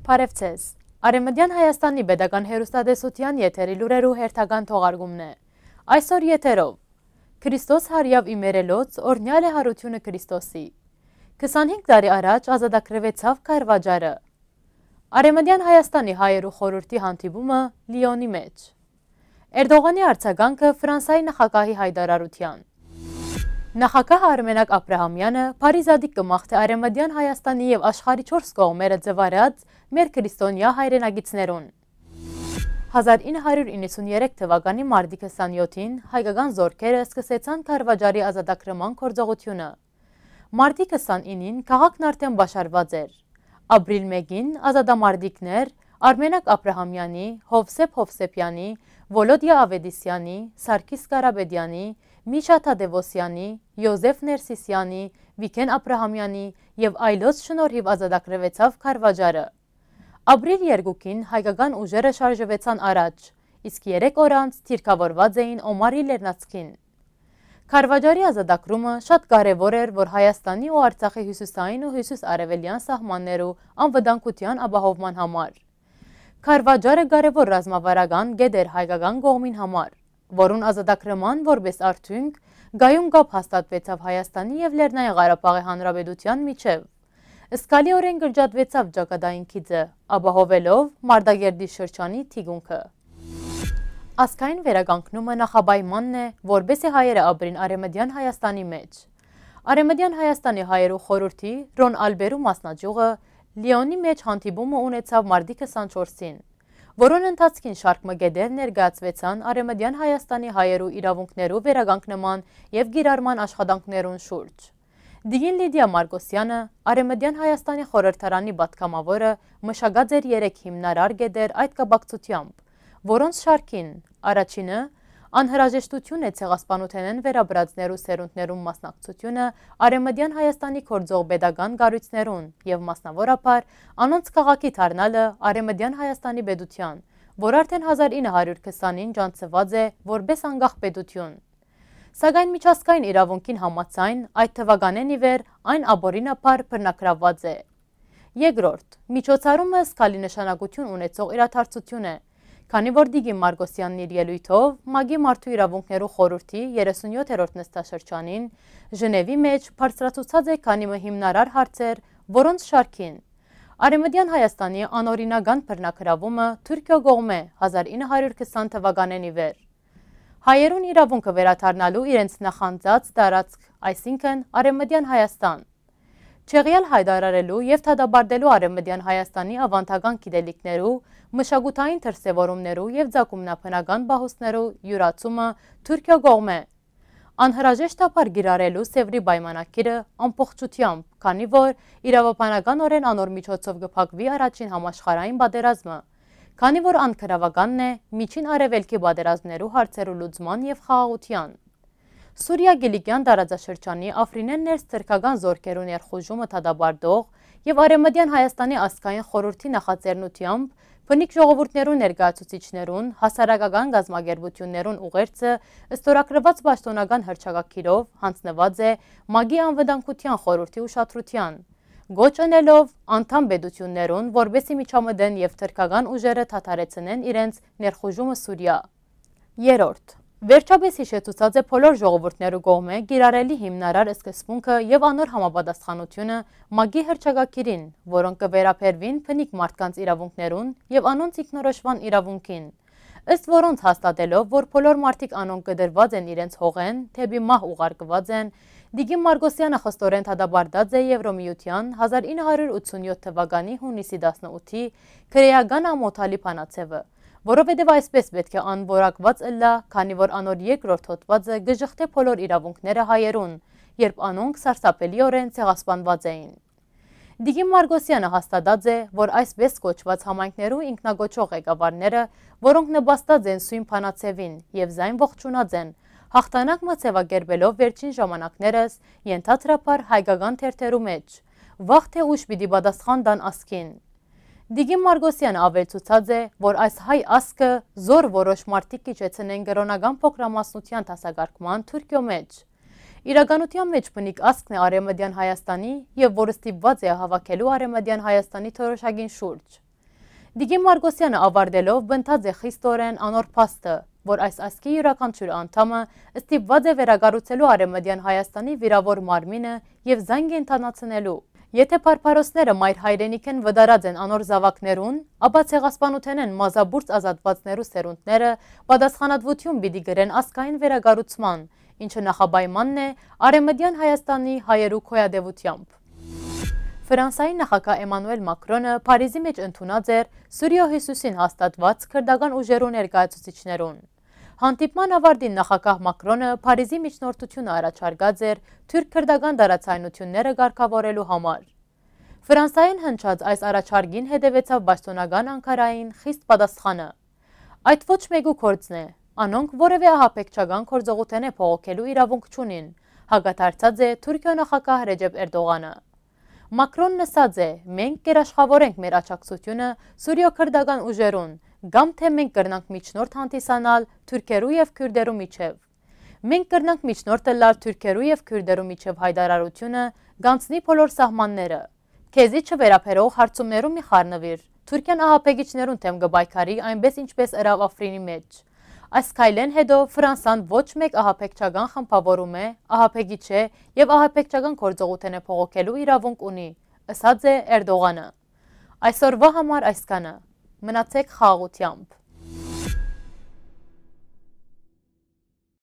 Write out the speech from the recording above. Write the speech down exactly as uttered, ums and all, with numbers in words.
Բարև ձեզ։ Արեւմտեան Հայաստանի պետական հեռուստատեսութեան եթերի լուրերու հերթական թողարկումն է։ Այսօր եթերով. Քրիստոս հարիաւ իմերելոց օրհնեալ է յարութիւնը Քրիստոսի։ Քսանհինգ տարի առաջ ազատագրուեցաւ Քարվաճառը։ Արեւմտեան Հայաստանի հայերու խորհրդի հանդիպումը Լիոնի մէջ։ Էրդողանի արձագանքը Ֆրանսայի նախագահի յայտարարութեան։ Նախագահ Արմենակ Աբրահամեանը բարի զատիկ կը մաղթէ Արեւմտեան Հայաստանի եւ աշխարհի չորս կողմերը ձուարած մեր քրիստոնեայ հայրենակիցներուն։ Հազար ինը հարիւր իննսուններեք թուականի մարտի քսանեթին հայկական զօրքերը սկսեցան Քարվաճառի ազատագրման գործողութիւնը։ Մարտի քսանինին քաղաքն արդէն պաշարուած էր։ Ապրիլ մէկին ազատամարտիկներ Արմենակ Աբրահամեանի, Հովսեփ Հովսեփեանի, Վոլոդիա Ավետիսեանի, Սարգիս Կարապետեանի, Միշա Թադեւոսեանի, Յոզեֆ Ներսիսեանի, Վիգէն Աբրահամեանի եւ այլոց շնորհիւ ազատագրուեցաւ Քարվաճառը։ Ապրիլ երկուին հայկական ուժերը շարժուեցան առաջ, իսկ երեք օր անց դիրքաւորուած էին Օմարի լեռնանցքին։ Քարվաճառի ազատագրումը շատ կարեւոր էր, որ Հայաստանի ու Արցախի հիւսիսային ու հիւսիս-արեւելեան սահմաններու անվտանգութեան ապահովման համար։ Քարվաճառը կարեւոր ռազմավարական կետ էր հայկական կողմին համար, որուն ազատագրման որպէս արդիւնք կայուն կապ հաստատուեցաւ Հայաստանի եւ Լեռնային Ղարաբաղի Հանրապետութեան միջեւ։ Զգալիօրէն կրճատուեցաւ ճակատային գիծը, ապահովելով Մարտակերտի շրջանի թիկունքը։ Ազգային վերականգնումը նախապայմանն է, որպէսզի հայերը ապրին Արեւմտեան Հայաստանի մէջ։ Արեւմտեան Հայաստանի հայերու խորհրդի Ռոն Ալպերու մասնաճիւղը Լիոնի մէջ հանդիպումը ունեցաւ մարտի քսանչորսին, որուն ընթացքին շարք մը կետեր ներկայացուեցան Արեւմտեան Հայաստանի հայերու իրաւունքներու վերականգնման եւ կիրառման աշխատանքներուն շուրջ։ Տիկին Լիդիա Մարկոսեանը, Արեւմտեան Հայաստանի խորհրդարանի պատգամաւորը, մշակած էր երեք հիմնարար կետեր այդ կապակցութեամբ, որոնց շարքին առաջինը անհրաժեշտութիւն է ցեղասպանութենէն վերապրածներու սերունդներուն մասնակցությունը Արեւմտեան Հայաստանի գործող պետական կառոյցներուն եւ մասնաւորաբար անոնց քաղաքի դառնալը Արեւմտեան Հայաստանի պետութեան, որ արդէն հազար ինը հարիւր քսանին ճանչցուած է որպէս անկախ պետութիւն։ Սակայն միջազգային իրաւունքին համաձայն, այդ թուականէն ի վեր այն ապօրինաբար բռնագրաւուած է։ Երկրորդ, միջոցառումը զգալի նշանակութիւն ունեցող իրադարձութիւն է, քանի որ Տիկին Մարկոսեանն իր ելոյթով ՄԱԿ-ի Մարդու իրաւունքներու խորհրդի երեսունյոթերորդ նստաշրջանին Ժնեւի մէջ բարձրացուցած է քանի մը հիմնարար հարցեր, որոնց շարքին Արեւմտեան Հայաստանի անօրինական բռնագրաւումը Թուրքիոյ կողմէ հազար ինը հարիւր քսան թուականէն ի վեր, հայերուն իրաւունքը վերադառնալու իրենց նախանձած տարածք, այսինքն՝ Արեւմտեան Հայաստան, չեղեալ յայտարարելու եւ դատապարտելու Արեւմտեան Հայաստանի աւանդական գիտելիքներու, մշակութային դրսեւորումներու եւ ձագումնաբնական պահոստներու յուրացումը Թուրքիոյ կողմէ, անհրաժեշտաբար կիրառելու Սեւրի պայմանագիրը ամբողջութեամբ, քանի որ իրաւաբանականօրէն անոր միջոցով կը փակուի առաջին համաշխարհային պատերազմը, քանի որ ան գրաւականն է Միջին Արեւելքի պատերազմներու հարցերու լուծման եւ խաղաղութեան։ Սուրիա Կիլիկեան տարածաշրջանի افرین-էն ներս թրքական զօրքերու ներխուժումը դատապարտող եւ Արեւմտեան Հայաստանի ազգային խորհրդի նախաձեռնութեամբ բնիկ ժողովուրդներու ներկայացուցիչներուն, հասարակական կազմակերպութիւններուն ուղերձը ստորագրուած պաշտօնական հռչակագիրով յանձնուած է ՄԱԿ-ի անվտանգութեան խորհրդի ուշադրութեան, կոչ ընելով անդամ պետութիւններուն, որպէսզի միջամտեն եւ թրքական ուժերը դադարեցնեն իրենց ներխուժումը Սուրիա։ Երրորդ, վերջապէս յիշեցուցած է բոլոր ժողովուրդներու կողմէ կիրառելի հիմնարար սկզբունքը եւ անոր համապատասխանութիւնը ՄԱԿ-ի հռչակագիրին, որոնք կը վերաբերուին բնիկ մարդկանց իրաւունքներուն եւ անոնց ինքնորոշման իրաւունքին, ըստ որոնց, հաստատելով, որ բոլոր մարդիկ, անոնք կտրուած են իրենց հողէն, դէպի մահ ուղարկուած են, Տիկին Մարկոսեանը խստորէն դատապարտած է Եվրոմիութեան հազար ինը հարիւր ութսունյոթ թուականի յունիսի տասնութի քրէական ամօթալի բանաձեւը, որովհետեւ այսպէս պէտք է անորոշուած ըլլայ, քանի որ անոր երկրորդ հոդվածը կը ժխտէ բոլոր իրաւունքները հայերուն, երբ անոնք սարսափելիօրէն ցեղասպանուած էին։ Տիկին Մարկոսեանը հաստատած է, որ այսպէս կոչուած համայնքներու ինքնակոչող ղեկավարները, որոնք նպաստած են սոյն բանաձեւին եւ զայն ողջունած են, յաղթանակ մը ձեւակերպելով վերջին ժամանակներս, ենթադրաբար հայկական թերթերու մէջ, վաղ թե ուշ պիտի պատասխան տան ազգին։ Տիկին Մարկոսեանը աւելցուցած է, որ այս հայ ազգը զոր որոշ մարդիկ կիջեցնեն կրօնական փոքրամասնութեան դասակարգման Թուրքիոյ մէջ։ Իրականութեան մէջ բնիկ ազգն է Արեւմտեան Հայաստանի եւ որ ստիպուած է հաւաքելու Արեւմտեան Հայաստանի թորոշակին շուրջ։ Տիկին Մարկոսյանը ավարտելով պնդած է խիստորեն անոր փաստը, որ այս ազգի իւրաքանչիւր անդամը ստիպուած է վերակառուցելու Արեւմտեան Հայաստանի վիրաւոր մարմինը եւ զանգ կենդանացնելու։ Եթէ բարբարոսները մայր հայրենիքէն վտարած են անոր զաւակներուն, ապա ցեղասպանութենէն մազապուրծ ազատուածներու սերունդները պատասխանատուութիւն պիտի կրեն ազգային վերակառուցման, ինչը նախապայմանն է Արեւմտեան Հայաստանի հայերու գոյատեւութեամբ։ Ֆրանսայի նախագահ Էմանուել Մակրոնը Փարիզի մէջ ընդունած էր Սուրիոյ հիւսիսին հաստատուած քրտական ուժերու ներկայացուցիչներուն։ Հանդիպման աւարտին նախագահ Մակրոնը Փարիզի միջնորդութիւնը առաջարկած էր թուրք-քրտական տարածայնութիւնները կարգաւորելու համար։ Ֆրանսայէն հնչած այս առաջարկին հետեւեցաւ պաշտօնական Անգարային խիստ պատասխանը։ Այդ ոչ մէկու գործն է։ Անոնք որեւէ ահաբեկչական գործողութենէ բողոքելու իրաւունք չունին, հակադարձած է Թուրքիոյ նախագահ Ռեջեփ Էրտողանը։ Մակրոնն ըսած է. «Մենք կերաշխաւորենք մեր աջակցութիւնը Սուրիոյ քրտական ուժերուն, կամ թէ մենք կրնանք միջնորդ հանդիսանալ թուրքերու եւ քուրդերու միջեւ։ Մենք կրնանք միջնորդ ըլլալ թուրքերու եւ քուրդերու միջեւ հայտարարութիւնը կ'անցնի բոլոր սահմանները։ Քեզի չվերաբերող հարցումներու մի խառնուիր։ Թուրքիան ահաբեկիչներուն դէմ կը պայքարի այնպէս ինչպէս ըրաւ Աֆրինի մէջ»։ Այս քայլէն հետո Ֆրանսան ոչ մէկ ահաբեկչական խմբաւորում է, ահաբեկիչ է եւ ահաբեկչական գործողութենէ բողոքելու իրաւունք ունի, ըսած է Էրտողանը։ Այսօրուայ համար այսքանը։ Մնացէք խաղաղութեամբ։